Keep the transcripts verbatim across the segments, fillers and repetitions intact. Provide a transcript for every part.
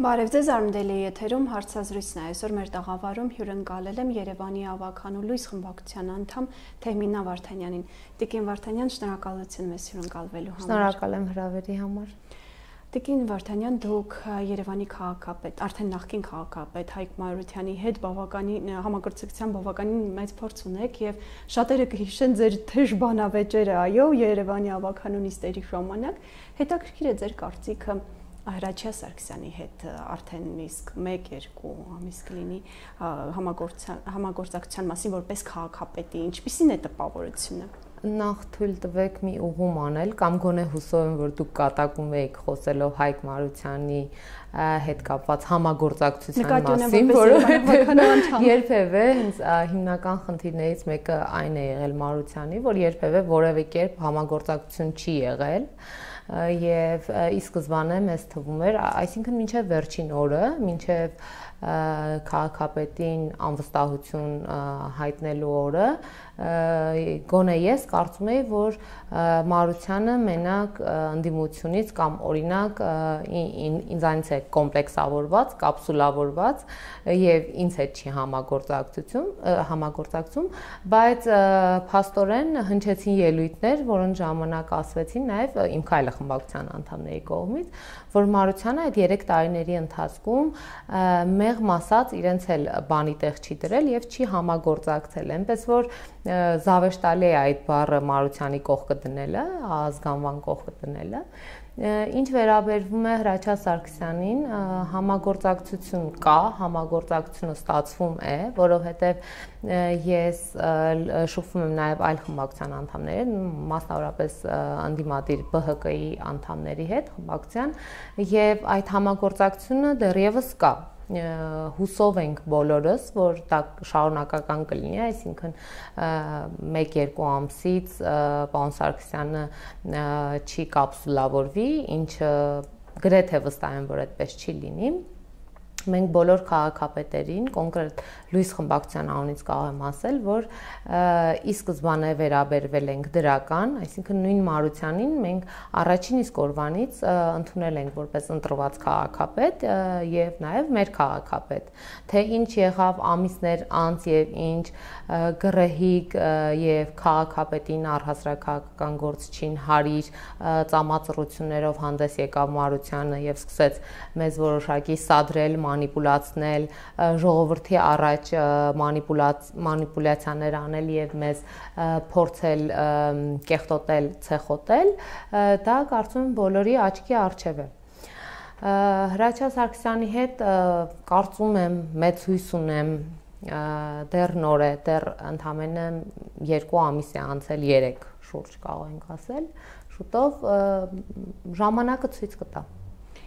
Բարև ձեզ, Արմդելի եթերում հարցազրույցն է, այսօր մեր տաղավարում հյուրընկալել եմ Երևանի ավագանու լույս խմբակցության անդամ Թեհմինա Վարդանյանին։ Տիկին Վարդանյան, շնորհակալություն մեզ հյուրընկալվելու համար։ Շնորհակալ եմ հրավերի համար։ Տիկին Վարդանյան, դուք Երևանի քաղաքապետ, արդեն նախկին քաղաքապետ Հայկ Մանուկյանի հետ բավականին համագործակցության բավականին մեծ փորձ ունեք եւ շատերը կհիշեն ձեր թեժ բանավեճերը, այո, Երևանի ավագանու նիստերի ժամանակ։ Հետաքրքիր է ձեր կարծիքը Հրաչյա Սարգսյանի հետ արդեն իսկ մեկ երկու ամիս կլինի համագործակցության մասին որպես քաղաքապետի, ինչպիսին է տպավորությունը։ Նախ թույլ տվեք մի ուղում անել կամ գոնե հուսով եմ, որ դուք կատակում եք խոսելով Հայկ Մանուկյանի հետ կապված համագործակցության մասին, որովհետև երբևէ հենց հիմնական խնդիրներից մեկը այն է եղել Մանուկյանի, որ երբևէ որևէ կերպ համագործակցություն չի եղել եւ ի սկզբանե մեզ թվում էր, այսինքն մինչեւ վերջին օրը, մինչեւ քաղաքապետին անվստահություն հայտնելու օրը, գոնե ես կարծում եի, որ Մանուկյանը մենակ ընդդիմությունից կամ օրինակ ինձանից է կոմպլեքսավորված, կապսուլավորված եւ ինձ հետ չի համագործակցություն, համագործակցում, բայց փաստորեն հնչեցին ելույթներ, որոնց ժամանակ ասվեցին նաեւ իմ քայլը խմբակցության անդամների կողմից, որ Մանուկյանը այդ երեք տարիների ընթացքում մեղմ ասած իրենց էլ բանի տեղ չի դրել եւ չի համագործակցել, այնպես որ զավեշտալի է այդ բառը Մանուկյանի կողքը դնելը, ազգանվան կողքը դնելը։ Ինչ վերաբերվում է Հրաչյա Սարգսյանին, համագործակցություն կա, համագործակցությունը ստացվում է, որովհետև ես շփվում եմ նաև այլ խմբակցության անդամների, մասնավորապես ընդդիմադիր B H K-ի անդամների հետ խմբակցության, եւ այդ համագործակցությունը դեռևս կա։ Հուսով ենք բոլորս, որ դա շարունակական կլինի, այսինքն մեկ-երկու ամսից պարոն Սարգսյանը չի կապսուլավորվի, ինչը գրեթե վստահ եմ, որ այդպես չի լինի։ Մենք բոլոր քաղաքապետերին, կոնկրետ լույս խմբակցության անունից կարող եմ ասել, որ ի սկզբանե վերաբերվել ենք դրական, այսինքն նույն Մանուկյանին մենք առաջին իսկ օրվանից ընդունել ենք որպես ընտրված քաղաքապետ եւ նաեւ մեր քաղաքապետ, թե ինչ եղավ ամիսներ անց եւ ինչ գրեհիկ եւ քաղաքապետին առհասարակական գործչին հարիր ծամածռություններով հանդես եկավ Մանուկյանը եւ սկսեց մեզ որոշակի սադրել, մանիպուլացնել, ժողովրդի առաջ մանիպուլյացիաներ անել եւ մեզ փորձել կեղտոտել, ցեխոտել, դա կարծում եմ բոլորի աչքի առջև է։ Հրաչյա Սարգսյանի հետ կարծում եմ, մեծ հույս ունեմ, դեռ նոր է, դեռ ընդամենը երկու ամիս է անցել, երեք շուրջ կարող ենք ասել, շուտով ժամանակը ցույց կտա։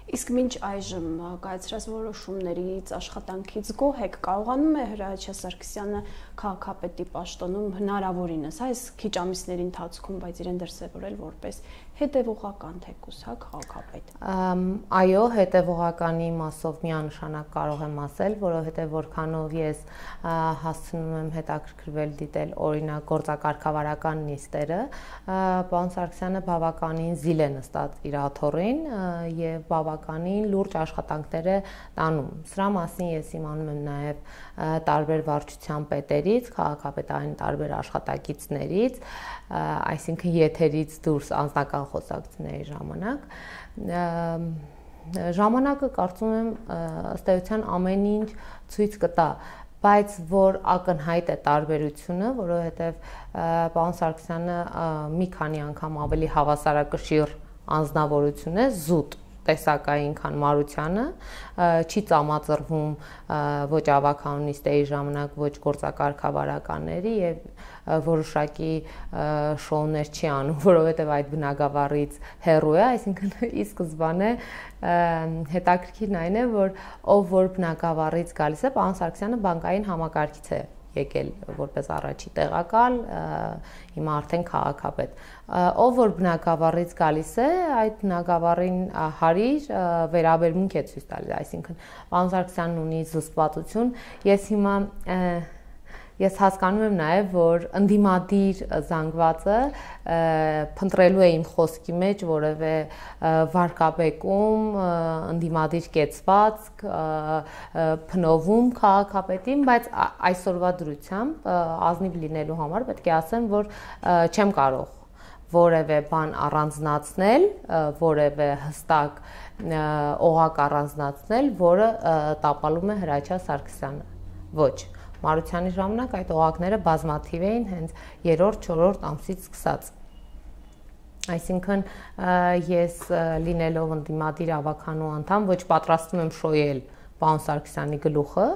Իսկ մինչ այժմ կայացրած որոշումներից, աշխատանքից գոհ եք, կարողանում է Հրաչյա Սարգսյանը քաղաքապետի պաշտոնում հնարավորինս, այս քիչ ամիսների ընթացքում, բայց իրեն դրսևորել որպես հետևողական թեկուզ, հա, քաղաքապետ։ Այո, հետևողականի մասով միանշանակ կարող եմ ասել, որովհետև որքանով ես հասցնում եմ հետաքրքրվել դիտել օրինակ գործակարգավարական նիստերը, պարոն Սարգսյանը բավականին զիլ է նստած իր աթոռին եւ բավականին լուրջ աշխատանքներ է տանում։ Սրա մասին ես իմանում եմ նաեւ տարբեր վարչության պետերից, քաղաքապետարանի տարբեր աշխատակիցներից, այսինքն եթերից դուրս անձնական խոսակցությունների ժամանակ, ժամանակը կարծում եմ ըստ էության ամեն ինչ ցույց կտա, բայց որ ակնհայտ է տարբերությունը, որովհետև պարոն Սարգսյանը մի քանի անգամ ավելի հավասարակշիռ անձնավորություն է, զուտ տեսակային, քան Մանուկյանը, չի ծամածռվում ոչ ավագանունիստերի ժամանակ, ոչ գործակարգավարականների եւ որոշակի շոուներ չի անում, որովհետեւ այդ բնակավարից հեռու է, այսինքն ի սկզբանե հետաքրքիրն այն է, որ ով որ բնակավարից գալիս է, պարոն Սարգսյանը բանկային համակարգից է եկել որպես առաջի տեղակալ, հիմա արդեն քաղաքապետ։ Ով որ բնակավարից գալիս է, այդ բնակավարին հարիր վերաբերմունք է ցույց տալիս, այսինքն պարոն Սարգսյանն ունի զսպվածություն, ես հիմա ես հասկանում եմ նաև, որ ընդդիմադիր զանգվածը փնտրելու է իմ խոսքի մեջ որևէ վարկաբեկում, ընդդիմադիր կեցվածք, փնովում քաղաքապետին, բայց այսօրվա դրությամբ ազնիվ լինելու համար պետք է ասեմ, որ չեմ կարող որևէ բան առանձնացնել, որևէ հստակ օղակ առանձնացնել, որը տապալում է Հրաչյա Սարգսյանը։ Ոչ, Մարությանի ժամանակ այդ օղակները բազմաթիվ էին հենց երրորդ, չորրորդ ամսից սկսած։ Այսինքն ես լինելով ընդդիմադիր ավականու անդամ ոչ պատրաստվում եմ շոյել պարոն Սարգսյանի գլուխը,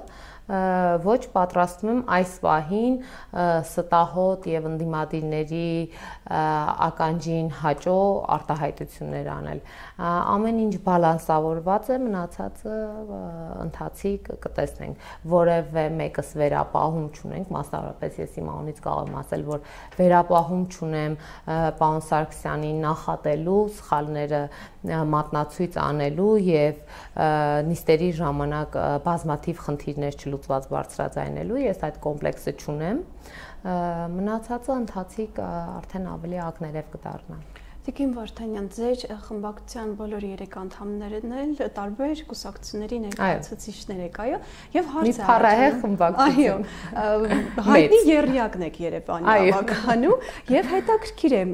ոչ պատրաստվում եմ այս պահին ստահոդ եւ ընդդիմադիրների ականջին հաճո արտահայտություններ անել։ Ամեն ինչ բալանսավորված է, մնացածը ընթացիկ կտեսնենք։ Որևէ մեկս վերապահում չունենք, մասնավորապես ես իմ անունից կարող եմ ասել, որ վերապահում չունեմ պարոն Սարգսյանի նախատելու, սխալները մատնացույց անելու եւ նիստերի ժամանակ բազմաթիվ խնդիրներ չլուծված բարձրաձայնելու, ես այդ կոմպլեքսը չունեմ, մնացածը ընթացիկ արդեն ավելի ակներև կդառնա։ Տիկին Վարդանյան, ձեր խմբակցության բոլոր երեք անդամներն էլ տարբեր կուսակցությունների ներկայացուցիչներ եք, այո, եւ հարց է հարցը խմբակցություն։ Այո, հայտնի եռյակն եք Երևանի ավականու եւ հետաքրքիր է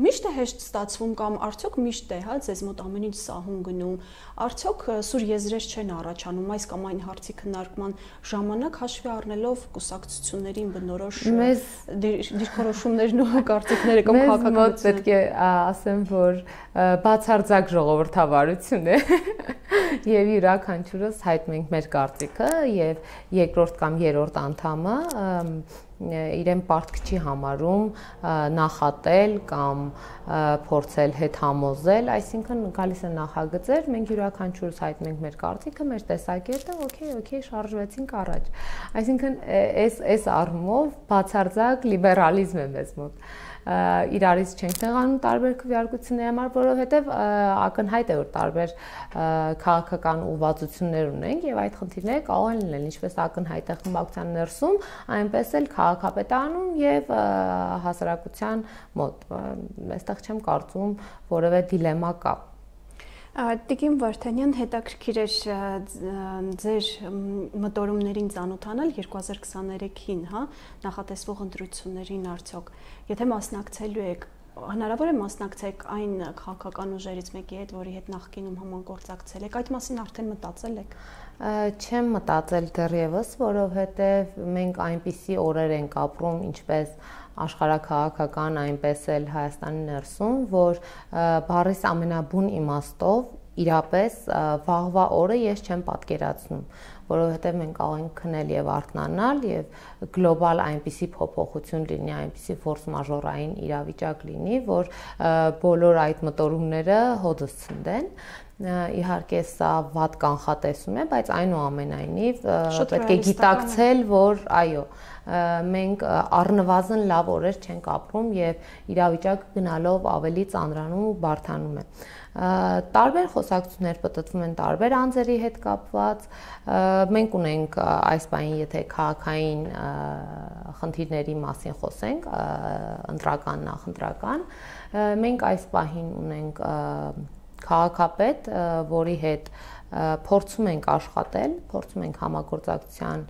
միշտ է հեշտ ստացվում կամ արդյոք միշտ է, հա, ձեզ մոտ ամեն ինչ սահուն գնում, արդյոք սուր եզրեր չեն առաջանում այս կամ այն հարցի քննարկման ժամանակ հաշվի առնելով կուսակցություններին բնորոշ դիրքորոշումներն ու կարծիքները կամ քաղաքականությունը։ Մեզ մոտ պետք է ասեմ, որ բացարձակ ժողովրդավարություն է եւ յուրաքանչյուրս հայտնում ենք մեր կարծիքը եւ երկրորդ կամ երրորդ անդամը իրեն պարտք չի համարում նախատել կամ փորձել հետ համոզել, այսինքն գալիս է նախագծեր, մենք յուրաքանչյուրս հայտնում ենք մեր կարծիքը, մեր տեսակետը, օքեյ, օքեյ, շարժվեցինք առաջ։ Այսինքն այս այս առումով բացարձակ լիբերալիզմ է մեզ մոտ։ Իրարից չենք տեղանում տարբեր քվեարկությունների համար, որովհետև ակնհայտ է, որ տարբեր քաղաքական ուղղվածություններ ունենք եւ այդ խնդիրները կարող են լինել ինչպես ակնհայտ է խմբակցության ներսում, այնպես էլ քաղաքապետարանում եւ հասարակության մոտ։ Այստեղ չեմ կարծում որևէ դիլեմա կա։ Տիկին Վարդանյան, հետաքրքիր էր ձեր մտորումներին ծանոթանալ երկու հազար քսաներեքին, հա, նախատեսվող ընտրություններին արդյոք, եթե մասնակցելու եք, հնարավոր է մասնակցեք այն քաղաքական ուժերից մեկի հետ, որի հետ նախկինում համագործակցել եք, այդ մասին արդեն մտածել եք։ Չեմ մտածել դեռևս, որովհետև մենք այնպիսի օրեր ենք ապրում, ինչպես աշխարհաքաղաքական, այնպես էլ Հայաստանի ներսում, որ բառիս ամենաբուն իմաստով իրապես վաղվա օրը ես չեմ պատկերացնում, որովհետև մենք կարող ենք քնել եւ արթնանալ եւ գլոբալ այնպիսի փոփոխություն լինի, այնպիսի ֆորս մաժորային իրավիճակ լինի, որ բոլոր այդ մտորումները հոդս ցնդեն։ Իհարկե սա վատ կանխատեսում է, բայց այնուամենայնիվ պետք է գիտակցել, որ այո, մենք առնվազն լավ օրեր չենք ապրում եւ իրավիճակը գնալով ավելի ծանրանում ու բարդանում է։ Տարբեր խոսակցություններ պատտվում են տարբեր անձերի հետ կապված, մենք ունենք այս բանի, եթե քաղաքային խնդիրների մասին խոսենք, ընտրական, նախընտրական, մենք այս պահին ունենք քաղաքապետ, որի հետ փորձում ենք աշխատել, փորձում ենք համագործակցության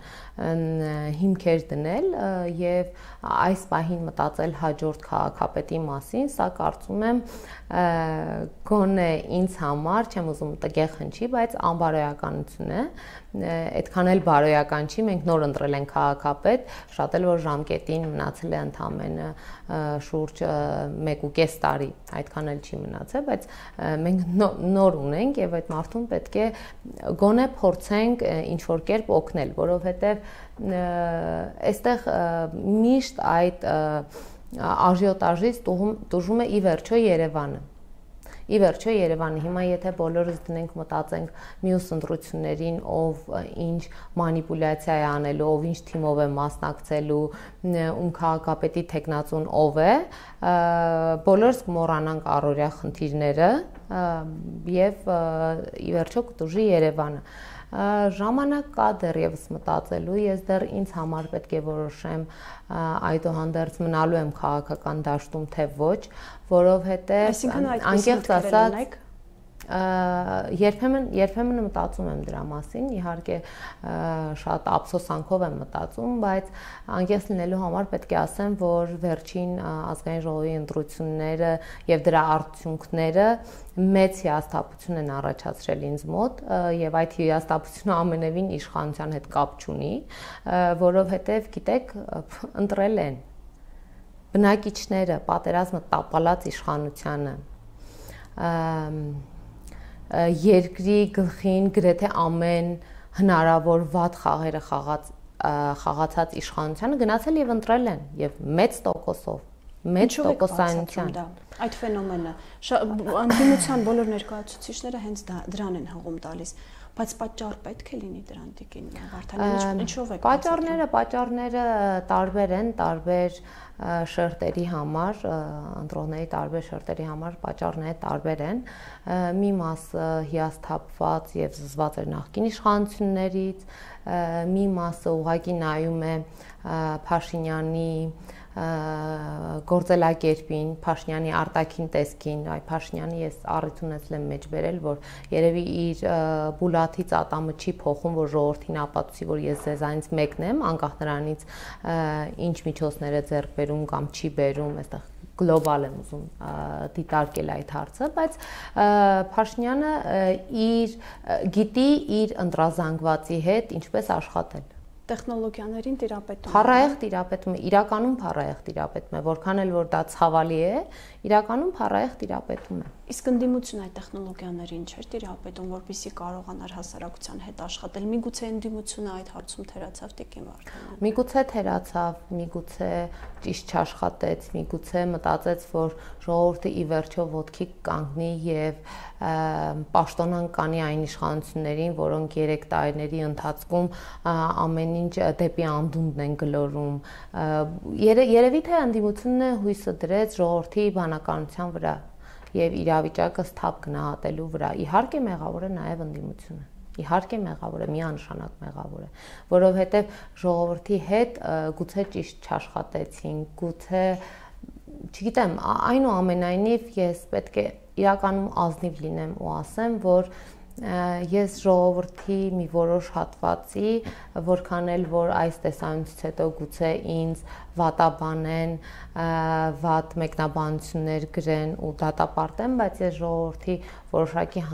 հիմքեր դնել եւ այս պահին մտածել հաջորդ քաղաքապետի մասին, սա կարծում եմ գոնե ինձ համար, չեմ ուզում տգեղ հնչի, բայց անբարոյականություն է, այդքան էլ բարոյական չի, մենք նոր ընտրել ենք քաղաքապետ, շատ էլ որ ժամկետին մնացել է ընդամենը շուրջ մեկ ու կես տարի, այդքան էլ չի մնացել, բայց մենք նոր ունենք եւ այդ մարդուն պետք է գոնե փորձենք ինչ որ կերպ օգնել, որովհետեւ այստեղ միշտ այդ աժիոտաժից տուժում է ի վերջո Երևանը։ Ի վերջո Երևանը, հիմա եթե բոլորս դնենք մտածենք մյուս ընտրություններին, ով ինչ մանիպուլյացիա է անելու, ով ինչ թիմով է մասնակցելու, ում քաղաքապետի թեկնածուն ով է, բոլորս կմոռանանք առօրյա խնդիրները եւ ի վերջո կտուժի Երևանը։ Ժամանակ կա դեռևս մտածելու, ես դեռ ինձ համար պետք է որոշեմ այդուհանդերձ մնալու եմ քաղաքական դաշտում թե ոչ, որովհետև անկեղծ ասած Երբեմն երբեմն մտածում եմ դրա մասին, իհարկե շատ ափսոսանքով եմ մտածում, բայց անկեղծ լինելու համար պետք է ասեմ, որ վերջին ազգային ժողովի ընտրությունները եւ դրա արդյունքները մեծ հիասթափություն են առաջացրել ինձ մոտ եւ այդ հիասթափությունը ամենևին իշխանության հետ կապ չունի, որովհետեւ գիտեք, ընտրել են բնակիչները պատերազմը տապալած իշխանությանը երկրի գլխին գրեթե ամեն հնարավոր վատ խաղերը խաղաց խաղացած իշխանությանը գնացել եւ ընտրել են եւ մեծ տոկոսով մեծ տոկոսայնությամբ այդ ֆենոմենը անդիմության բոլոր ներկայացուցիչները հենց դրան են հողում տալիս բայց պատճառ պետք է լինի դրան տիկին Վարդանյան ինչով է պատճառները պատճառները տարբեր են տարբեր շերտերի համար ընտրողների տարբեր շերտերի համար պատճառները տարբեր են մի մասը հիասթափված եւ զզված էր նախկին իշխանություններից մի մասը ուղղակի նայում է Փաշինյանի գործելակերպին, Փաշինյանի արտաքին տեսքին, այ Փաշինյանի ես առիթ ունեցել եմ մեջ բերել, որ երևի իր բուլաթից ատամը չի փոխում, որ ժողովրդին ապացուցի, որ ես ձեզանից մեկն եմ, անկախ նրանից ինչ միջոցներ է ձեռք բերում կամ չի բերում, այստեղ գլոբալ եմ ուզում դիտարկել այդ հարցը, բայց Փաշինյանը իր գիտի իր ընտրազանգվածի հետ ինչպես աշխատել տեխնոլոգիաներին տիրապետում Փառահեղ տիրապետում է, իրականում փառահեղ տիրապետում է, որքան էլ որ դա ցավալի է, իրականում փառահեղ տիրապետում է։ Իսկ ընդդիմությունը այդ տեխնոլոգիաներին չէր տիրապետում, որպեսզի կարողանար հասարակության հետ աշխատել։ Միգուցե ընդդիմությունը այդ հարցում թերացավ տիկին Վարդանյան։ Միգուցե թերացավ, միգուցե ճիշտ չաշխատեց, միգուցե մտածեց, որ ժողովուրդը ի վերջո ոտքի կանգնի եւ պաշտոնան կանի այն իշխանություններին, որոնք երեք տարիների ընթացքում ամեն ինչ դեպի անդունդն են գլորում։ Երևի թե ընդդիմությունը հույսը դրեց ժողովրդի բանականության վրա եւ իրավիճակը սթափ գնահատելու վրա։ Իհարկե մեղավոր է նաեւ ընդդիմությունը։ Իհարկե մեղավոր է, միանշանակ մեղավոր է, որովհետեւ ժողովրդի հետ գուցե ճիշտ չաշխատեցին, գուցե չգիտեմ, այնուամենայնիվ ես պետք է իրականում ազնիվ լինեմ ու ասեմ, որ ես ժողովրդի մի որոշ հատվածի, որքան էլ որ այս տեսանյութից հետո գուցե ինձ վատաբանեն, վատ մեկնաբանություններ գրեն ու դատապարտեն, բայց ես ժողովրդի որոշակի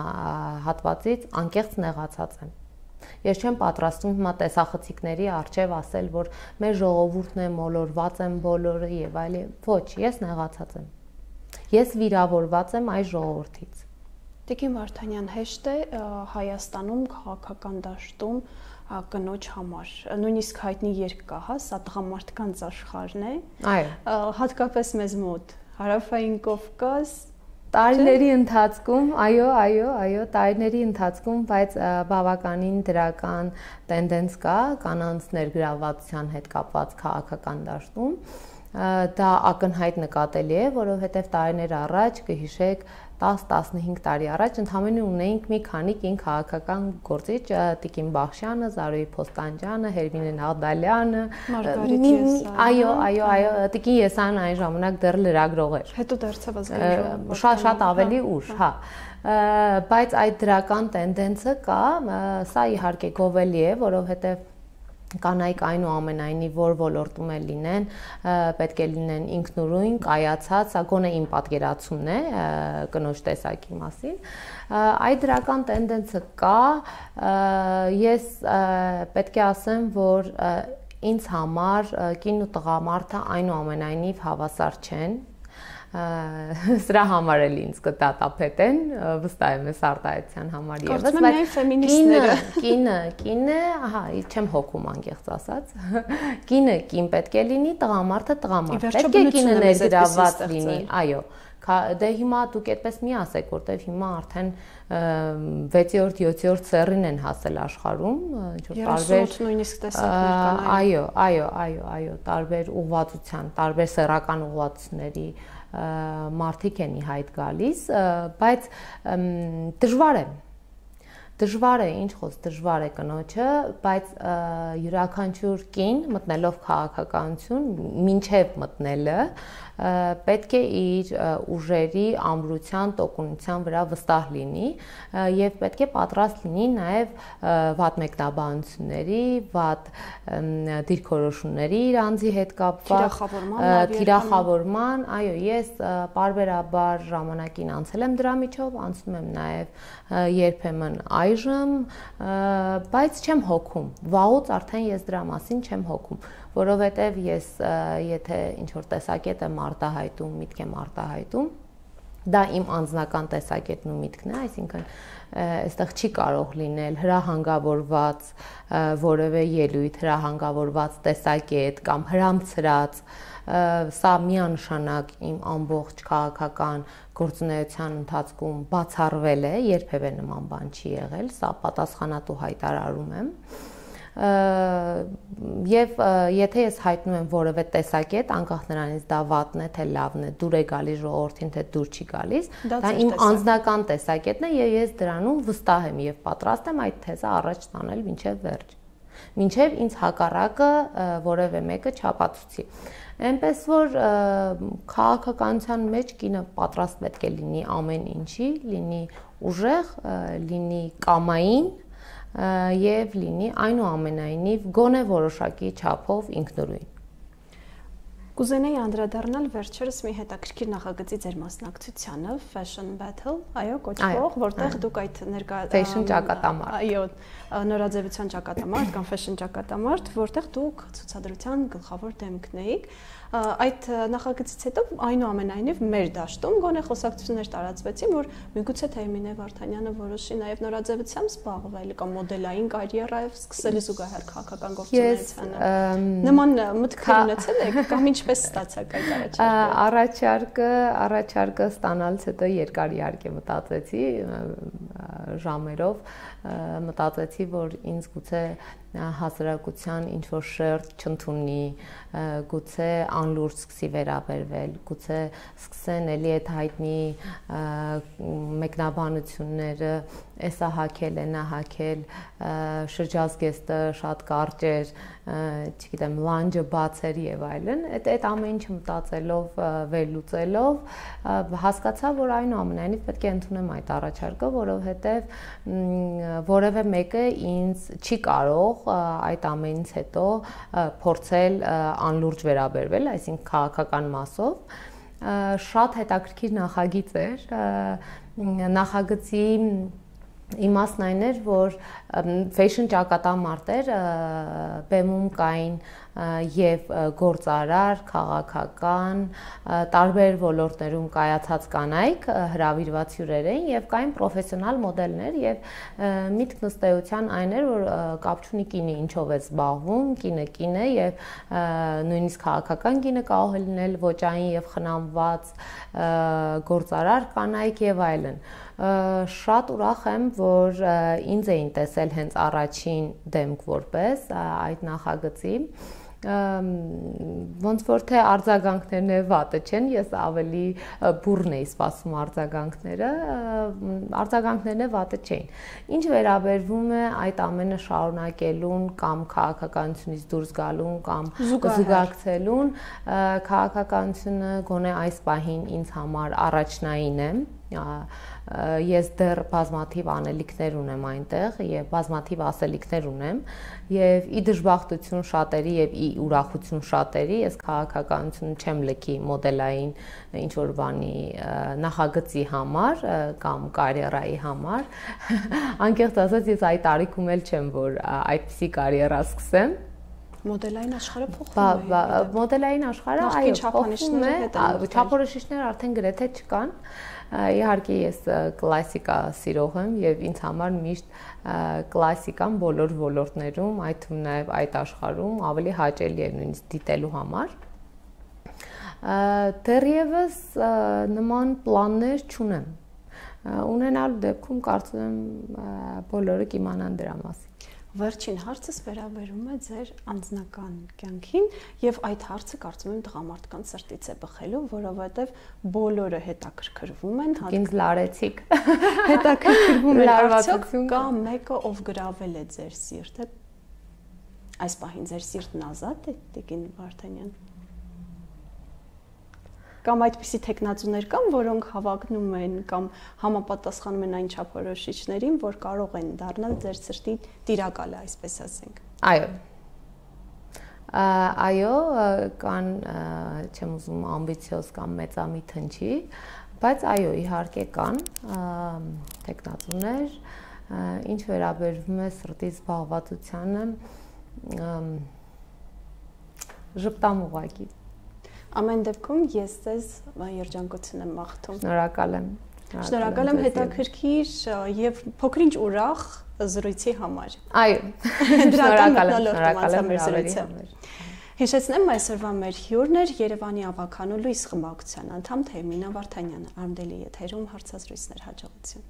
հատվածից անկեղծ նեղացած եմ։ Ես չեմ պատրաստվում հիմա տեսախցիկների առջև ասել, որ մեր ժողովուրդն է, մոլորված են բոլորը եւ այլն, ոչ, ես նեղացած եմ։ Ես վիրավորված եմ այս ժողովրդից։ Տիկին Վարդանյան, հեշտ է Հայաստանում քաղաքական դաշտում կնոջ համար, նույնիսկ հայտնի երգ կա, հա, սա տղամարդկանց աշխարհն է։ Այո։ Հատկապես մեզ մոտ, Հարավային Կովկաս, տարիների ընթացքում, այո, այո, այո, տարիների ընթացքում, բայց բավականին դրական տենդենս կա կանանց ներգրավվածության հետ կապված քաղաքական դաշտում։ Դա ակնհայտ նկատելի է, որովհետև տարիներ առաջ կհիշեք տաս տասնհինգ տարի առաջ ընդհանրապես ունեինք մի քանի կին քաղաքական գործիչ, Տիկին Բախշյանը, Զարուհի Փոստանջյանը, Հերմինե Նաղդալյանը, Մարգարիտ Եսայան։ Այո, այո, այո, Տիկին Եսայանն այն ժամանակ դեռ լրագրող էր։ Հետո դարձավ ազգային ժողով։ Շատ շատ ավելի ուշ, հա։ Բայց այդ դրական տենդենսը կա, սա իհարկե գովելի է, որովհետև կանայք այնուամենայնիվ որ ոլորտում էլ լինեն, պետք է լինեն ինքնուրույն, կայացած, սա գոնե իմ պատկերացումն է կնոջ տեսակի մասին։ Այդ դրական տենդենսը կա, ես պետք է ասեմ, որ ինձ համար կին ու տղամարդը այնուամենայնիվ հավասար չեն։ Սրա համար էլ ինձ կդատապետեն, վստահ եմ ես արտահայտության համար եւս, բայց ֆեմինիստները կինը, կինը, ահա, չեմ հոգում անկեղծ ասած։ Կինը կին պետք է լինի, տղամարդը տղամարդ։ Պետք է կինը ներգրավված լինի, այո։ Դե հիմա դուք այդպես մի ասեք, որտեվ հիմա արդեն վեցերորդ, յոթերորդ սերին են հասել աշխարհում, ինչ որ տարբեր նույնիսկ տեսակներ կան։ Այո, այո, այո, այո, տարբեր ուղղվածության, տարբեր սեռական ուղղվածությունների մարդիկ են ի հայտ գալիս, բայց դժվար է։ Դժվար է, ինչ խոս, դժվար է կնոջը, բայց յուրաքանչյուր կին մտնելով քաղաքականություն, մինչև մտնելը պետք է իր ուժերի ամրության, տոկունության վրա վստահ լինի եւ պետք է պատրաստ լինի նաեւ վատ մեկնաբանությունների, վատ դիրքորոշումների իր անձի հետ կապված, թիրախավորման, այո, ես պարբերաբար ժամանակին անցել եմ դրա միջով, անցնում եմ նաեւ երբեմն այժմ, բայց չեմ հոգում, վաղուց արդեն ես դրա մասին չեմ հոգում, որովհետև ես եթե ինչ-որ տեսակետ եմ արտահայտում, միտք եմ արտահայտում, դա իմ անձնական տեսակետն ու միտքն է, այսինքն այստեղ չի կարող լինել հրահանգավորված որևէ ելույթ, հրահանգավորված տեսակետ կամ հրամցրած, սա միանշանակ իմ ամբողջ քաղաքական գործունեության ընթացքում բացառվել է, երբևէ նման բան չի եղել, սա պատասխանատու հայտարարում եմ, եւ եթե ես հայտնում եմ որևէ տեսակետ, անկախ նրանից դա վատն է, թե լավն է, դուր է գալիս ժողովրդին, թե դուր չի գալիս, դա իմ անձնական տեսակետն է եւ ես դրանում վստահ եմ եւ պատրաստ եմ այդ թեզը առաջ տանել մինչեւ վերջ, մինչեւ ինձ հակառակը որևէ մեկը չապացուցի։ Այնպես որ քաղաքականության մեջ կինը պատրաստ պետք է լինի ամեն ինչի, լինի ուժեղ, լինի կամային եւ լինի այնուամենայնիվ գոնե որոշակի չափով ինքնուրույն։ Կուզենայի անդրադառնալ վերջերս մի հետաքրքիր նախագծի ձեր մասնակցությանը, Fashion Battle, այո, կոչվող, որտեղ դուք այդ ներկա Fashion ճակատամարտ, այո, նորաձևության ճակատամարտ կամ Fashion ճակատամարտ, որտեղ դուք ցուցադրության գլխավոր դեմքն էիք, այդ նախագծից հետո այնուամենայնիվ մեր դաշտում գոնե խոսակցություններ տարածվեցին, որ միգուցե Թեյմինե Վարդանյանը որոշի նաև նորաձևությամբ զբաղվել կամ մոդելային կարիերայով սկսել զուգահեռ քաղաքական գործունեությանը։ Նման մտքեր ունեցել եք կամ ինչպես ստացաք այդ առաջարկը։ Առաջարկը, առաջարկը ստանալուց հետո երկար իհարկե մտածեցի ժամերով, մտածեցի, որ ինձ գուցե հասարակության ինչ-որ շերտ չընդունի, գուցե անլուրջ սկսի վերաբերվել, գուցե սկսեն էլի այդ հայտնի մեկնաբանությունները, էսա հակել, ենա հակել, շրջազգեստը շատ կարճ էր, չգիտեմ, լանջը բաց էր եւ այլն, այդ ամեն ինչը մտածելով, վերլուծելով, հասկացա, որ այնուամենայնիվ պետք է ընդունեմ այդ առաջարկը, որովհետեւ որևէ մեկը ինձ չի կարող այդ ամենից հետո փորձել անլուրջ վերաբերվել, այսինքն քաղաքական մասով, շատ հետաքրքիր նախագիծ էր, նախագծի իմաստն այն էր, որ Fashion ճակատամարտեր բեմում կային եւ գործարար, քաղաքական, տարբեր ոլորտներում կայացած կանայք հրավիրված հյուրեր էին եւ կային պրոֆեսիոնալ մոդելներ եւ միտքն ըստ էության այն էր, որ կապ չունի կինը ինչով է զբաղվում, կինը կին է եւ նույնիսկ քաղաքական կինը կարող է լինել ոճային եւ խնամված գործարար կանայք եւ այլն։ Շատ ուրախ եմ, որ ինձ էին տեսել հենց առաջին դեմք որպես այդ նախագծի, ոնց որ թե արձագանքներն է վատը չեն, ես ավելի բուրն էի սպասում արձագանքները, արձագանքներն է վատը չէին։ Ինչ վերաբերվում է այդ ամենը շարունակելուն կամ քաղաքականությունից դուրս գալուն կամ զուգակցելուն, քաղաքականությունը գոնե այս պահին ինձ համար առաջնային է, ես դեռ բազմաթիվ անելիքներ ունեմ այնտեղ եւ բազմաթիվ ասելիքներ ունեմ եւ ի դժբախտություն շատերի եւ ի ուրախություն շատերի ես քաղաքականություն չեմ լքի մոդելային ինչ որ բանի նախագծի համար կամ կարիերայի համար անկեղծ ասած ես այդ տարիքում էլ չեմ որ այդպիսի կարիերա սկսեմ Մոդելային աշխարհը փոխվում է։ Մոդելային աշխարհը այո, փոխվում է, չափորոշիչներ արդեն գրեթե չկան։ Իհարկե ես կլասիկա սիրող եմ եւ ինձ համար միշտ կլասիկան բոլոր ոլորտներում, այդ թվում նաեւ այդ աշխարհում ավելի հաճելի է նույնիսկ դիտելու համար։ Դեռևս նման պլաններ չունեմ։ Ունենալու դեպքում կարծում եմ բոլորը կիմանան դրա մասին։ Վերջին հարցս վերաբերում է ձեր անձնական կյանքին եւ այդ հարցը կարծում եմ տղամարդկանց սրտից է բխելու, որովհետեւ բոլորը հետաքրքրվում են, ինձ լարեցիք։ Հետաքրքրվում են արդյոք կա մեկը, ով գրավել է ձեր սիրտը։ Այս պահին ձեր սիրտն ազատ է, Տիկին Վարդանյան։ Կամ այդպիսի տեխնացուներ կան, որոնք հավակնում են կամ համապատասխանում են այն չափորոշիչներին, որ կարող են դառնալ ձեր սրտի տիրակալը, այսպես ասենք։ Այո։ Այո, կան, չեմ ուզում ամբիցիոզ կամ մեծամիտ հնչի, բայց այո, իհարկե կան տեխնացուներ, ինչ վերաբերվում է սրտի զբաղվածությանը, ժպտամ ուղղակի։ Ամեն դեպքում ես ձեզ երջանկություն եմ մաղթում։ Շնորհակալ եմ։ Շնորհակալ եմ հետաքրքիր եւ փոքրինչ ուրախ զրույցի համար։ Այո։ Շնորհակալ եմ, շնորհակալ եմ մեր զրույցի համար։ Հիշեցնեմ, այսօրվա մեր հյուրն էր Երևանի ավականու լույս խմբակցության անդամ Թեյմինա Վարդանյանը, Արմդելի եթերում հարցազրույցներ, հաջողություն։